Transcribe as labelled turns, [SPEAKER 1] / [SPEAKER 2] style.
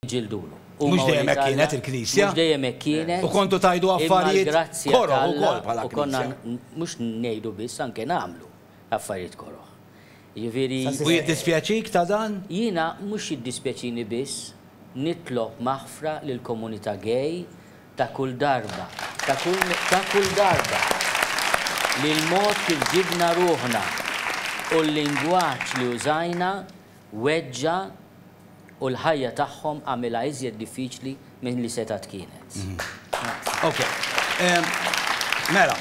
[SPEAKER 1] Niġġildulu.
[SPEAKER 2] Mhux dejjem hekk kienet il-Knisja.
[SPEAKER 1] Mhux dejjem hekk kienet.
[SPEAKER 2] U kontu tgħidu affarijiet koroh ukoll bħala
[SPEAKER 1] Knisja. Mhux ngħidu biss, anke nagħmlu affarijiet koroh. Jiġifieri.
[SPEAKER 2] U jiddispjaċik ta' dan?
[SPEAKER 1] Jiena mhux jiddispjaċini biss, nitlob maħfra lill-komunità gay ta' kull darba, ta' kull, ta' kull darba li l-mod kif ġibna ruħna u l-lingwaġġ li użajna weġġa' u l-ħajja tagħhom għamilha iżjed diffiċli milli setgħet kienet.
[SPEAKER 2] Ok. Mela.